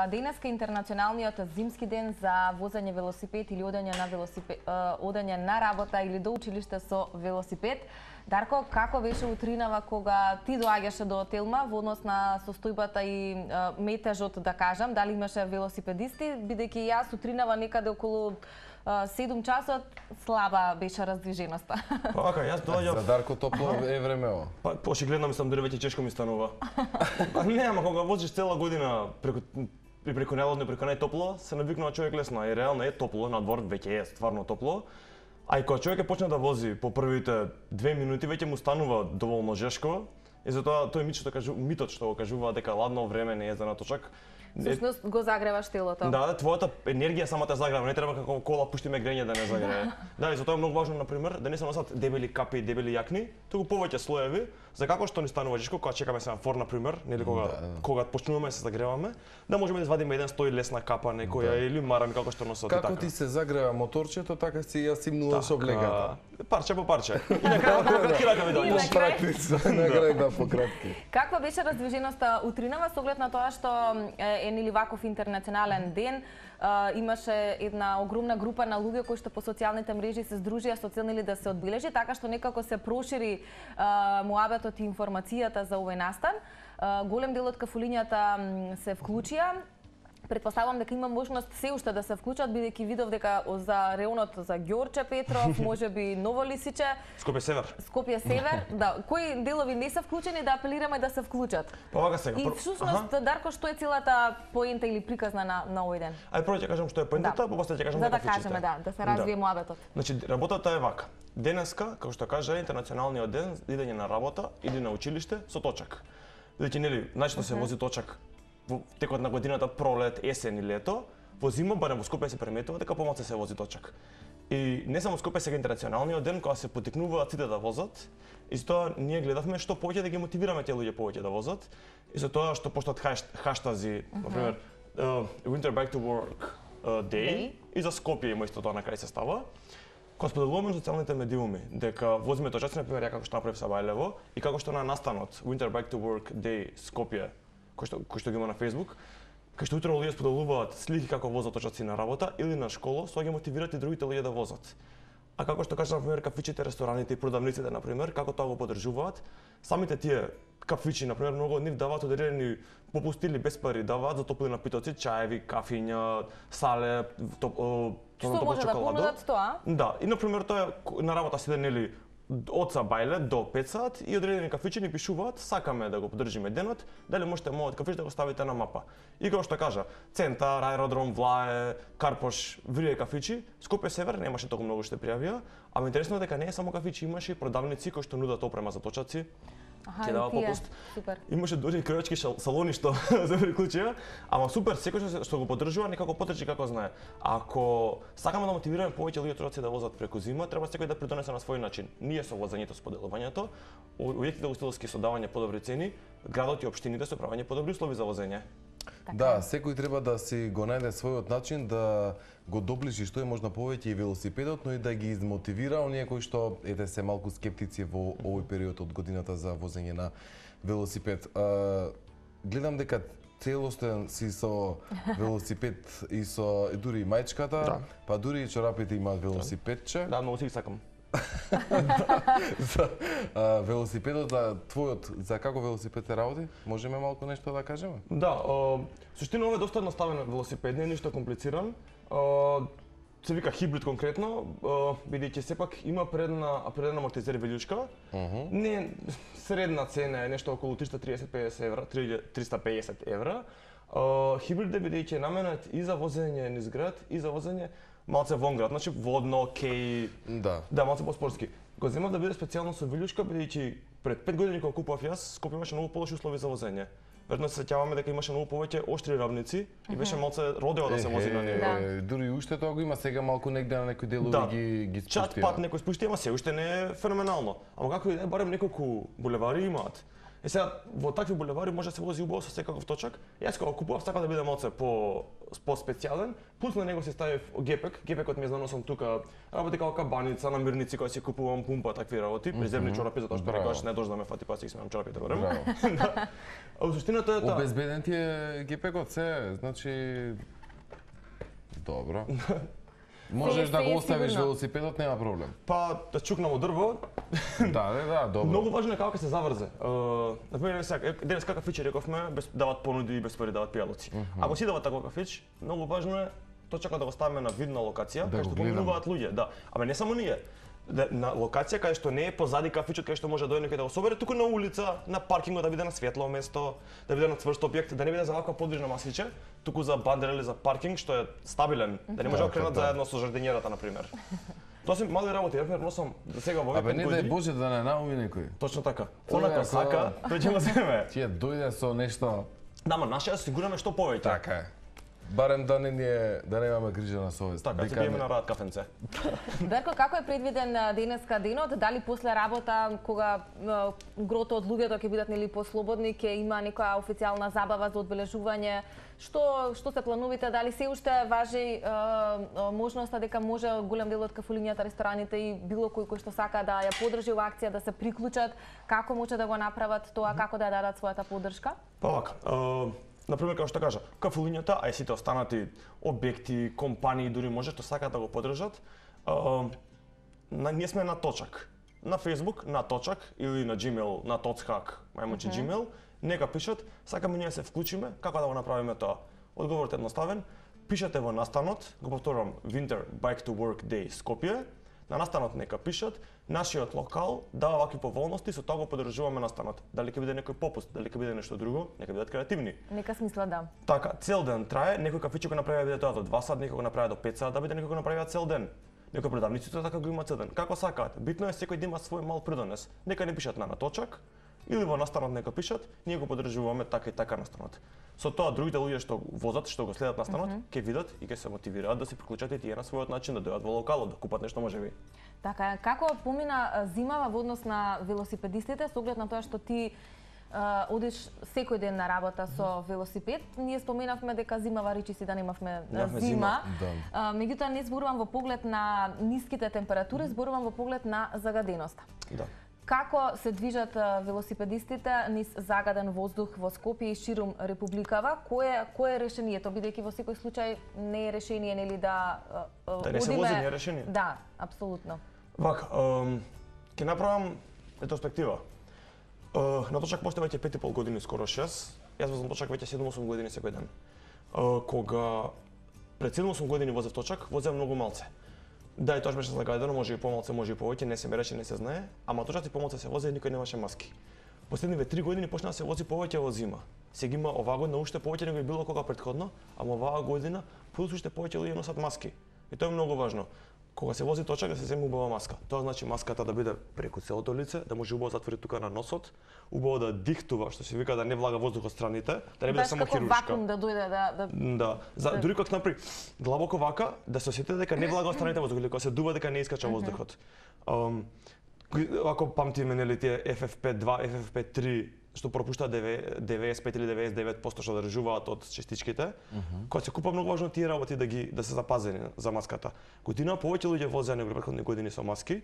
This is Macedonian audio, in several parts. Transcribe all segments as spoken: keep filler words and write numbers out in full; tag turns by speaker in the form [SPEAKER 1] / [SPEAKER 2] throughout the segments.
[SPEAKER 1] Денеска е интернационалниот зимски ден за возење велосипед или одење на велосипед, одење на работа или до училиште со велосипед. Дарко, како беше утринава кога ти доаѓаше до Телма во однос на состојбата и метежот, да кажам, дали имаше велосипедисти, бидејќи јас утринава некаде околу седум часот слаба беше раздвиженоста.
[SPEAKER 2] Па ака, јас доаѓав.
[SPEAKER 3] За Дарко топло е времево.
[SPEAKER 2] Па очигледно мислам дали веќе чешко ми станува. Па не, ама кога возиш цела година преку преку најлодно, преку најтопло, се навикнува човек лесно, и реално е топло, надвор веќе е стварно топло. А и кога човек е почне да вози по првите две минути, веќе му станува доволно жешко. И затоа тој мит што кажу, митот што го кажува дека ладно време не е за наточак.
[SPEAKER 1] Всушност го загреваш телото.
[SPEAKER 2] Да, да, твојата енергија самата загрева, не треба како кола пуштиме грење да не загрее. Да, и затоа е многу важно на пример да не се носат дебели капи и дебели јакни, туку повеќе слоеви, за како што ни станува жешко кога чекаме семафор на пример, нели кога да, да. кога почнуваме да се загреваме, да можеме да извадиме еден стој лесна капа некоја да. или марами како што носат
[SPEAKER 3] како
[SPEAKER 2] така.
[SPEAKER 3] Ти се загрева моторчето, така си ја симнуваш облегата.
[SPEAKER 2] Парче по парче. И на крај по кратки ракави да.
[SPEAKER 3] Практично, на крај да по кратки.
[SPEAKER 1] Каква беше раздвиженоста утринава со оглед на тоа што е нели ваков интернационален ден, Uh, имаше една огромна група на луѓе кои што по социјалните мрежи се здружија со цел нели да се одбележи, така што некако се прошири uh, муабетот и информацијата за овој настан. Uh, голем дел од кафулињата се вклучија. Предпоставувам дека има можност се уште да се вклучат, бидејќи видов дека за реонот за Ѓорче Петров, можеби Ново Лисиче,
[SPEAKER 2] Скопје Север.
[SPEAKER 1] Скопје Север, да, кои делови не се вклучени, да апелираме да се вклучат.
[SPEAKER 2] Па вака сега.
[SPEAKER 1] И всушност, Дарко, што е целата поента или приказна на на овој ден?
[SPEAKER 2] Ај прво ќе кажам што е поентата,
[SPEAKER 1] да.
[SPEAKER 2] па после ќе кажам
[SPEAKER 1] за да
[SPEAKER 2] кафичите.
[SPEAKER 1] кажеме, да, да се развие да. муабетот.
[SPEAKER 2] Значи работата е вака. Денеска, како што кажа, интернационалниот ден идење на работа или на училиште со точак. Бидејќи нели, начинно се вози точак во текот на годината, пролет, есен и лето, во зима, барем во Скопје се приметува дека помалку се вози точак. И не само Скопје сега интернационалниот ден кога се потикнуваат сите да возат, и затоа ние гледавме што повеќе да ги мотивираме тие луѓе повеќе да возат, и затоа што поштат хаштази, на пример, uh, Winter Back to Work uh, Day, Day, и за Скопје има исто тоа на крај се става. Кога споделуваме на социјалните медиуми дека возиме точаци, на пример, ја како што направив Сабајлево, и како што на настанот Winter Back to Work Day Скопје, кој што, кој што ги има на Facebook, кај што утре луѓе споделуваат слики како возат точаци на работа или на школа, со ги мотивираат и другите луѓе да возат. А како што кажа, на пример, кафичите, рестораните и продавниците, на пример, како тоа го поддржуваат, самите тие кафичи, на пример, многу од нив даваат одредени попусти или без пари, даваат за топли напитоци, чаеви, кафиња, сале, топ,
[SPEAKER 1] што може да понудат тоа?
[SPEAKER 2] Да, и на пример тоа на работа седе нели од Сабајле до пет сат и одредени кафичи ни пишуваат, сакаме да го поддржиме денот, дали можете мојот кафич да го ставите на мапа. И како што кажа, Центар, Аеродром, Влае, Карпош, врие кафичи, Скопје Север немаше толку многу што пријавија, ама интересно е дека не е само кафичи, имаше и продавници кои што нудат опрема за точаци. Ќе дава попуст.
[SPEAKER 1] Супер.
[SPEAKER 2] Имаше дури кројачки салони што се приклучија, ама супер, секој што, што го поддржува некако потрчи како знае. Ако сакаме да мотивираме повеќе луѓе точаци да возат преку зима, треба секој да придонесе на свој начин. Ние со возењето, споделувањето, објектите устилски со давање подобри цени, градот и општините со правење подобри услови за возење.
[SPEAKER 3] Така. Да, секој треба да си го најде својот начин да го доближи што е можно повеќе и велосипедот, но и да ги измотивира оние кои што ете се малку скептици во овој период од годината за возење на велосипед. А, гледам дека целостен си со велосипед и со дури и мајчката, да. па дури и чорапите имаат велосипедче.
[SPEAKER 2] Да, многу си ги сакам.
[SPEAKER 3] за а, велосипедот, за твојот, за како велосипед се работи? Можеме малку нешто да кажеме?
[SPEAKER 2] Да, а, суштина ова е доста едноставен велосипед, не е ништо комплициран. А, се вика хибрид конкретно, бидејќи сепак има предна преден амортизер велјучка. Uh -huh. Не средна цена е нешто околу триста триесет педесет евра, триста педесет евра. Uh, хибрид е бидејќи е наменет и за возење низ град и за возење малце вон град, значи водно, кеј,
[SPEAKER 3] да,
[SPEAKER 2] да малце по-спортски. Го земав да биде специјално со велјучка бидејќи пред пет години кога купував јас, Скопје имаше многу полоши услови за возење. Веројатно се сеќаваме дека имаше многу повеќе оштри равници и беше малце родео да се вози на него.
[SPEAKER 3] Да. Дури уште тоа го има сега малку негде на некои делови да. ги ги спуштија.
[SPEAKER 2] Чат пат некој спушти, ама се уште не е феноменално. Ама како и да е, барем неколку булевари имаат. Е сега во такви булевари може да се вози убаво со секаков точак. Јас кога купував сакав да биде малце по по специјален, плюс на него се ставив гепек. Гепекот ми е за носам тука, работи како кабаница, намирници кои си купувам, пумпа, такви работи, преземни чорапи затоа што рекаш не дожда да ме фати па си сменам чорапите во време. Да. А во суштината е таа.
[SPEAKER 3] Обезбеден ти е гепекот се, значи добро. Можеш да го оставиш велосипедот, нема проблем.
[SPEAKER 2] Па да чукнам од дрво.
[SPEAKER 3] Да, да, да, добро.
[SPEAKER 2] Многу важно е како ќе се заврзе. На пример, сега денес какав фич рековме, дават понуди и без пари дават пијалоци. Ако си дават таков фич, многу важно е точака да го ставиме на видна локација, кај што поминуваат луѓе, да. Ама не само ние. На локација кај што не е позади кафичот, кај што може да дојде некој да го собере, туку на улица, на паркингот, да биде на светло место, да биде на цврст објект, да не биде за ваква подвижна масиче, туку за бандер или за паркинг што е стабилен, да не може да кренат заедно со жардинјерата на пример. Тоа се мали работи, ја носам за сега во
[SPEAKER 3] Абе не дај Боже да не науми некој.
[SPEAKER 2] Точно така. Онака сака, тој ќе ме земе.
[SPEAKER 3] Ќе дојде со нешто.
[SPEAKER 2] Да, ма наше да сигураме што повеќе.
[SPEAKER 3] Така е. Барем да не е, да немаме грижа на совест.
[SPEAKER 2] Така, ќе биеме на рад кафенце.
[SPEAKER 1] Дарко, како е предвиден денеска денот? Дали после работа, кога грото од луѓето ќе бидат нели послободни, ќе има некоја официјална забава за одбележување? Што што се планувате? Дали се уште важи е, можноста дека може голем дел од кафулињата, рестораните и било кој кој што сака да ја поддржи оваа акција, да се приклучат, како може да го направат тоа, како да ја дадат својата поддршка?
[SPEAKER 2] Па вака, например, како што кажа, кафулињата, а и сите останати објекти, компании дури може што сакаат да го поддржат, на, ние сме на точак. На Facebook на точак или на Gmail на tochak, мајмонче mm -hmm. Gmail, нека пишат, сакаме ние да се вклучиме, како да го направиме тоа. Одговорот е едноставен, пишете во настанот, го повторувам, Winter Bike to Work Day Скопје, на настанот нека пишат, нашиот локал дава вакви поволности, со тоа го поддржуваме настанот. Дали ќе биде некој попуст, дали ќе биде нешто друго, нека бидат креативни.
[SPEAKER 1] Нека смисла да.
[SPEAKER 2] Така, цел ден трае, некој кафиче го направи да биде тоа до два сат, некој го направи до пет сат, да биде некој го направи цел ден. Некој продавниците така го има цел ден. Како сакаат? Битно е секој да има свој мал придонес. Нека не пишат на наточак или во настанот нека пишат, ние го поддржуваме така и така настанот. Со тоа другите луѓе што возат, што го следат настанот, ќе mm -hmm. видат и ќе се мотивираат да се приклучат и тие на својот начин да дојдат во локалот, да купат нешто можеби.
[SPEAKER 1] Така, како помина зимава во однос на велосипедистите, со оглед на тоа што ти Uh, одиш секој ден на работа со велосипед. Ние споменавме дека зимава речи си да немавме зима. зима.
[SPEAKER 3] Да.
[SPEAKER 1] Uh, меѓутоа не зборувам во поглед на ниските температури, зборувам во поглед на загаденоста.
[SPEAKER 2] Да.
[SPEAKER 1] Како се движат uh, велосипедистите низ загаден воздух во Скопје и ширум републикава? Кое кое е решението, бидејќи во секој случај не е решение нели да uh,
[SPEAKER 2] да не се вози, не е решение.
[SPEAKER 1] Да, апсолутно.
[SPEAKER 2] Вака, um, ќе направам ретроспектива. Uh, на точак постои веќе пет и пол години, скоро шест. Јас возам точак веќе седум-осум години секој ден. Uh, кога пред седум-осум години возев точак, возев многу малце. Да, и тоа беше загадено, може и помалце, може и повеќе, не се мереше, не се знае, ама точаци помалце се возе и никој немаше маски. Последниве три години почна да се вози повеќе во зима. Сега има оваа година уште повеќе него и било кога претходно, ама оваа година плюс уште повеќе луѓе носат маски. И тоа е многу важно. Кога се вози точак да се земе убава маска. Тоа значи маската да биде преку целото лице, да може убаво затвори тука на носот, убаво да дихтува, што се вика да не влага воздух од страните, да не биде само хируршка.
[SPEAKER 1] Баш како вакуум да дојде да да
[SPEAKER 2] Да, за дури кога напри длабоко вака да се осети дека не влага од страните воздух, или кога се дува дека не искача воздухот. Um, ако памтиме нели тие Еф Еф Пе два, Еф Еф Пе три што пропуштаат девеесет и пет или девеесет и девет проценти што држуваат од частичките, uh -huh. Кога се купа многу важно тие работи да ги да се запазени за маската. Година повеќе луѓе возеа него претходни години со маски,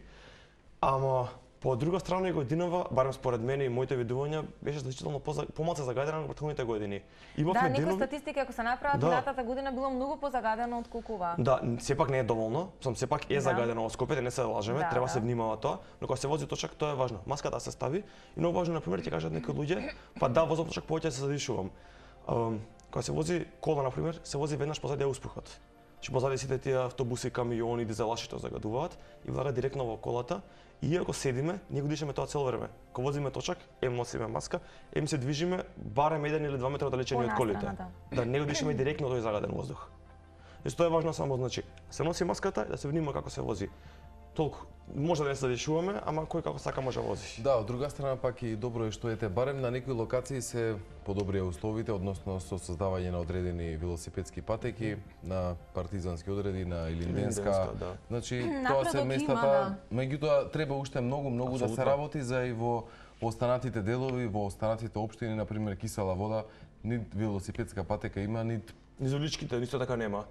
[SPEAKER 2] ама по друга страна и годинава, барем според мене и моите видувања, беше значително помалку загадена во претходните години.
[SPEAKER 1] Имавме да, некои статистики ако се направат, да. Минатата година било многу позагадено од колку ова.
[SPEAKER 2] Да, сепак не е доволно, сум сепак е да. Загадено во Скопје, не се лажеме, да, треба да. Се внимава тоа, но кога се вози точак тоа е важно. Маската се стави и многу важно, на пример, ќе кажат некои луѓе, па да, возам точак повеќе се задишувам. Um, кога се вози кола, на пример, се вози веднаш позади успухот. Че позади сите тие автобуси, камиони, дизелаши што загадуваат и влага директно во колата. И ако седиме, ние го дишеме тоа цело време. Кога возиме точак, ем носиме маска, ем се движиме барем еден или два метра далечени од колите. Да. Да, не го дишеме директно тој загаден воздух. И тоа е важно само, значи, се носи маската и да се внимава како се вози. Толку може да не се задишуваме, ама кој како сака може да вози.
[SPEAKER 3] Да, од друга страна пак и добро е што ете барем на некои локации се подобрија условите, односно со создавање на одредени велосипедски патеки, на партизански одреди, на Илинденска.
[SPEAKER 2] Да.
[SPEAKER 3] Значи, тоа се местата, да. Меѓутоа треба уште многу, многу Абсолютно. Да се работи за и во Во останатите делови, во останатите општини, на пример Кисела вода, нит велосипедска патека има, нит
[SPEAKER 2] Низ уличките исто така нема.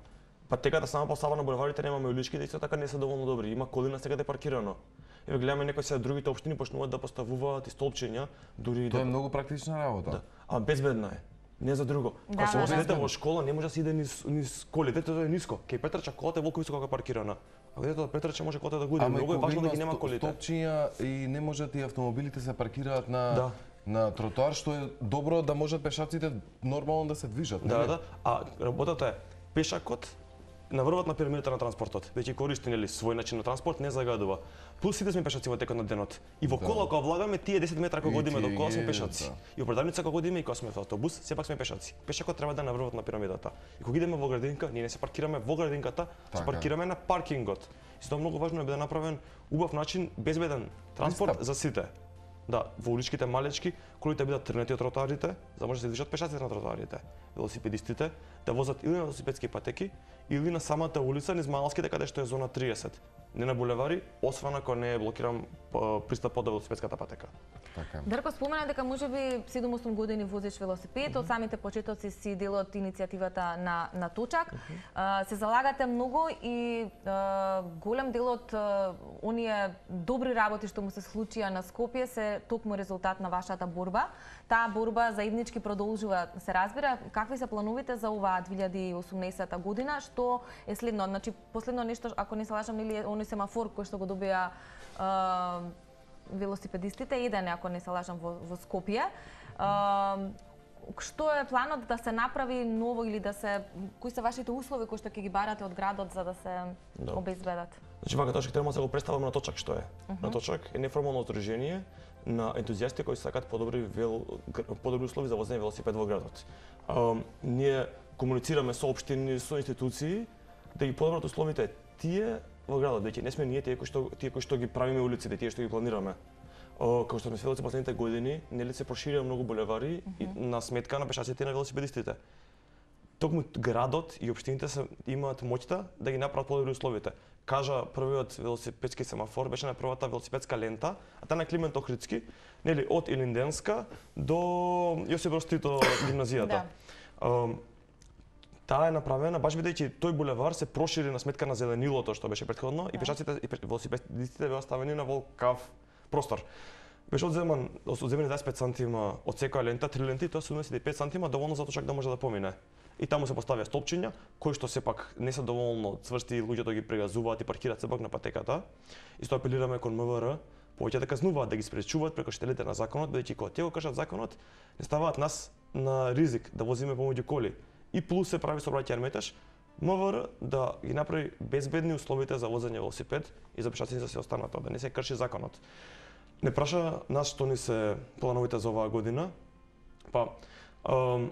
[SPEAKER 2] Патеката сама поставена на булеварите немаме, уличките исто така не се доволно добри. Има коли насекаде паркирано. Еве гледаме некои се другите општини почнуваат да поставуваат и столпчиња, дури
[SPEAKER 3] тоа
[SPEAKER 2] да...
[SPEAKER 3] е многу практична работа.
[SPEAKER 2] Да. А безбедна е. Не за друго.
[SPEAKER 1] Да,
[SPEAKER 2] Кога се
[SPEAKER 1] да,
[SPEAKER 2] вози
[SPEAKER 1] да.
[SPEAKER 2] дете во школа, не може да се иде низ, низ колите, тоа е ниско. Кај Петрча колата е волку високо како паркирана. А детето од Петрча може колата да го иде.
[SPEAKER 3] Ама
[SPEAKER 2] Многу е
[SPEAKER 3] кога
[SPEAKER 2] важно да
[SPEAKER 3] има
[SPEAKER 2] ги нема
[SPEAKER 3] сто-
[SPEAKER 2] колите.
[SPEAKER 3] Стопчиња и не можат и автомобилите се паркираат на
[SPEAKER 2] Да.
[SPEAKER 3] на тротоар, што е добро да можат пешаците нормално да се движат.
[SPEAKER 2] Да,
[SPEAKER 3] нели?
[SPEAKER 2] да. А работата е пешакот на врвот на пирамидата на транспортот, веќе користи нели свој начин на транспорт, не загадува. Плюс сите сме пешаци во текот на денот. И во
[SPEAKER 3] Да.
[SPEAKER 2] кола кога влагаме тие десет метра кога
[SPEAKER 3] И
[SPEAKER 2] одиме до
[SPEAKER 3] тие
[SPEAKER 2] кола сме
[SPEAKER 3] ги-
[SPEAKER 2] пешаци.
[SPEAKER 3] да.
[SPEAKER 2] И во продавница кога одиме и кога сме во автобус, сепак сме пешаци. Пешакот треба да е на врвот на пирамидата. И кога идеме во градинка, ние не се паркираме во градинката, се
[SPEAKER 3] Така.
[SPEAKER 2] паркираме на паркингот. И тоа многу важно е да биде направен убав начин, безбеден транспорт
[SPEAKER 3] Пристап.
[SPEAKER 2] за сите. Да, во уличките малечки, колите бидат трнати од тротоарите, за да може да се движат пешаците на тротоарите. Велосипедистите да возат или на велосипедски патеки, или на самата улица низ Малските каде што е зона триесет. Не на булевари, освен ако не е блокиран п- пристапот до велосипедската патека.
[SPEAKER 3] Така.
[SPEAKER 1] Дарко спомена дека можеби седум-осум години возиш велосипед, од самите почетоци си дел од иницијативата на на Точак. А, се залагате многу и а, голем дел од а, оние добри работи што му се случија на Скопје се токму резултат на вашата борба. Таа борба заеднички продолжува, се разбира. Какви се плановите за оваа две илјади и осумнаесета година, што е следно? Значи последно нешто, ако не се лажам, нели е оној семафор кој што го добија а, велосипедистите, еден е, ако не се лажам, во, во Скопје. А, што е планот да се направи ново или да се, кои се вашите услови кои што ќе ги барате од градот за да се
[SPEAKER 2] Да.
[SPEAKER 1] обезбедат?
[SPEAKER 2] Значи, вака точка треба да го представаме на Точак што е. На Точак е неформално здружение на ентузијасти кои сакаат подобри вел... гр- подобри услови за возење велосипед во градот. А, ние комуницираме со општини, со институции да ги подобрат условите тие во градот, веќе не сме ние тие кои што тие кои што ги правиме улиците, тие што ги планираме. О, како што сме сведоци последните години, нели се проширија многу булевари и на сметка на пешаците и на велосипедистите. Токму градот и општините се имаат моќта да ги направат подобри условите. Кажа првиот велосипедски семафор беше на првата велосипедска лента, а таа на Климент Охридски, нели од Илинденска до Јосип Брз Тито гимназијата. Ам, Таа е направена баш бидејќи тој булевар се прошири на сметка на зеленилото што беше претходно и пешаците и пеш- велосипедистите беа ставени на волкав простор. Беше одземан, одземени дваесет и пет сантима од секоја лента, три ленти, тоа се седумдесет и пет сантима, доволно за Точак да може да помине. И таму се поставија столпчиња, кои што сепак не се доволно цврсти, луѓето ги прегазуваат и паркираат сепак на патеката. Исто апелираме кон МВР, повеќе да казнуваат, да ги спречуваат прекршителите на законот, бидејќи кога тие го кршат законот, не ставаат нас на ризик да возиме помеѓу коли. И плюс се прави сообраќајен метеж, МВР да ги направи безбедни условите за возење велосипед и за пешаците за се останато, да не се крши законот. Не праша нас што ни се плановите за оваа година, па ам,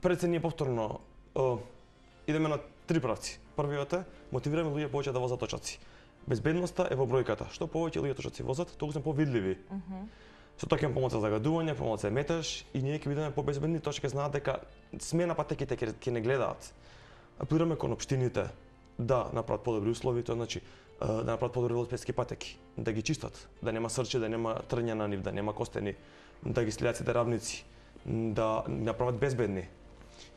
[SPEAKER 2] пред се ние повторно а, идеме на три правци. Првиот е мотивираме луѓе повеќе да возат точаци. Безбедноста е во бројката. Што повеќе луѓе точаци возат, толку сме повидливи. Со тоа ќе имаме помоца загадување, помоца метеж и ние ќе бидеме побезбедни, тоа ќе знаат дека сме на патеките ќе ќе не гледаат. Апелираме кон општините да направат подобри услови, тоа значи а, да направат подобри велосипедски патеки, да ги чистат, да нема срче, да нема трња на нив, да нема костени, да ги следат сите равници, да направат безбедни.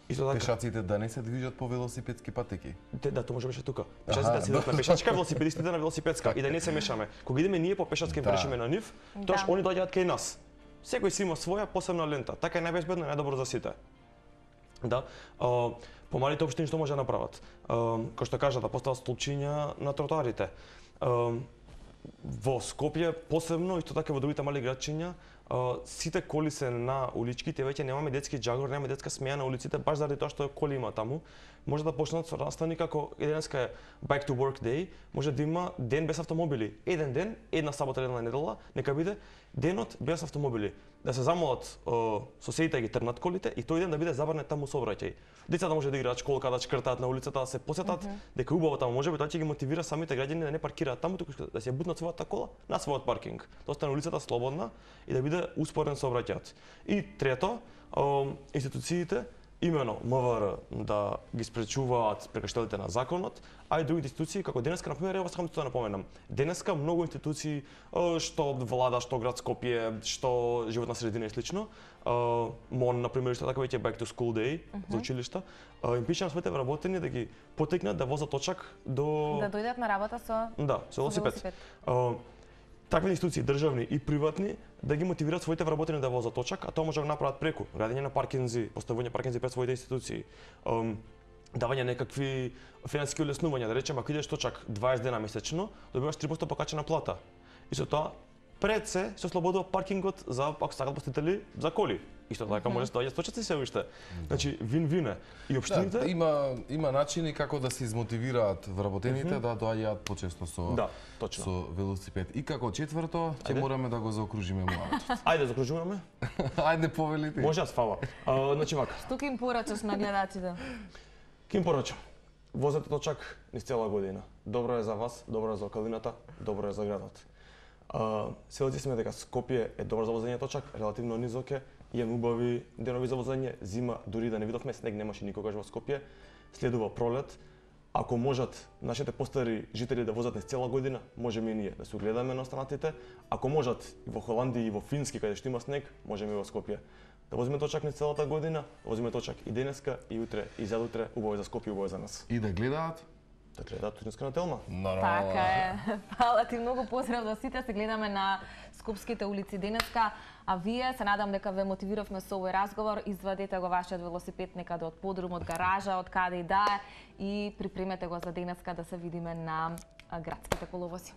[SPEAKER 2] Исто така,
[SPEAKER 3] Пешаците да не се движат по велосипедски патеки.
[SPEAKER 2] те, да, тоа може беше тука.
[SPEAKER 3] Аха,
[SPEAKER 2] Пешаците да седат
[SPEAKER 3] да.
[SPEAKER 2] на пешачка, велосипедистите на велосипедска и да не се мешаме. Кога идеме ние по пешачки
[SPEAKER 3] Да.
[SPEAKER 2] прешиме на нив, тоаш
[SPEAKER 1] Да.
[SPEAKER 2] они доаѓаат кај нас. Секој си има своја посебна лента. Така е најбезбедно и најдобро за сите. Да. А, помалите општини што може да направат? А, кој што кажа да постават столпчиња на тротоарите. А, во Скопје посебно, исто така и во другите мали градчиња, а, сите коли се на уличките, веќе немаме детски џагор, немаме детска смеја на улиците, баш заради тоа што коли има таму. Може да почнат со настани како денеска е Bike to Work Day, може да има ден без автомобили. Еден ден, една сабота, една недела, нека биде денот без автомобили. Да се замолат о, соседите да ги трнат колите и тој ден да биде забранет таму сообраќај. Децата може да играат школка, да чкртаат на улицата, да се посетат, mm -hmm. дека е убаво таму. Може би тоа ќе ги мотивира самите граѓани да не паркираат таму, туку да се бутнат својата кола на својот паркинг. Да остане улицата слободна и да биде успорен сообраќајот. И трето, о, институциите имено МВР да ги спречуваат прекршителите на законот, а и другите институции, како денеска, например, ево сакам да напоменам. Денеска многу институции, што влада, што град Скопје, што животна средина и слично, МОН, например, што така веќе Back to School Day uh -huh. за училишта, им пише на своите вработени да ги потекнат да возат точак до...
[SPEAKER 1] Да дојдат на работа со...
[SPEAKER 2] Да, со велосипед. Такви институции, државни и приватни, да ги мотивираат своите вработени да возат точак, а тоа може да го направат преку градење на паркинзи, поставување паркинзи пред своите институции, давање некакви финансиски улеснувања, да речеме, ако идеш точак дваесет дена месечно, добиваш три проценти покачена плата. И со тоа пред се се ослободува паркингот за, ако сакат посетители, за коли. Исто така може да доаѓа сточаци се уште. Значи вин-вин е. И општините
[SPEAKER 3] да, има има начини како да се измотивираат вработените mm -hmm. да доаѓаат почесто со
[SPEAKER 2] да, точно.
[SPEAKER 3] со велосипед. И како четврто, ќе мораме да го заокружиме муавот.
[SPEAKER 2] Ајде заокружуваме.
[SPEAKER 3] Ајде повели ти.
[SPEAKER 2] Може аз фала. А, значи вака.
[SPEAKER 1] Што ќе им порачаш на гледачите?
[SPEAKER 2] Ќе им порачам. Возете точак низ цела година. Добро е за вас, добро е за околината, добро е за градот. Uh, Селци сме дека Скопје е добро за возење точак, релативно низок е, имаме убави денови за возење, зима дури да не видовме, снег немаше никогаш во Скопје, следува пролет. Ако можат нашите постари жители да возат низ цела година, можеме и ние да се огледаме на останатите. Ако можат и во Холандија и во Фински каде што има снег, можеме и во Скопје. Да возиме точак низ целата година, да возиме точак и денеска, и утре, и задутре, убаво е за Скопје, убаво е за нас.
[SPEAKER 3] И да гледаат
[SPEAKER 2] да гледаат Туринска на Телма.
[SPEAKER 1] Така е. Фала ти многу, поздрав до сите. Се гледаме на скопските улици денеска. А вие, се надам дека ве мотивиравме со овој разговор, извадете го вашиот велосипед некаде од подрум, од гаража, од каде и да е и припремете го за денеска да се видиме на градските коловози.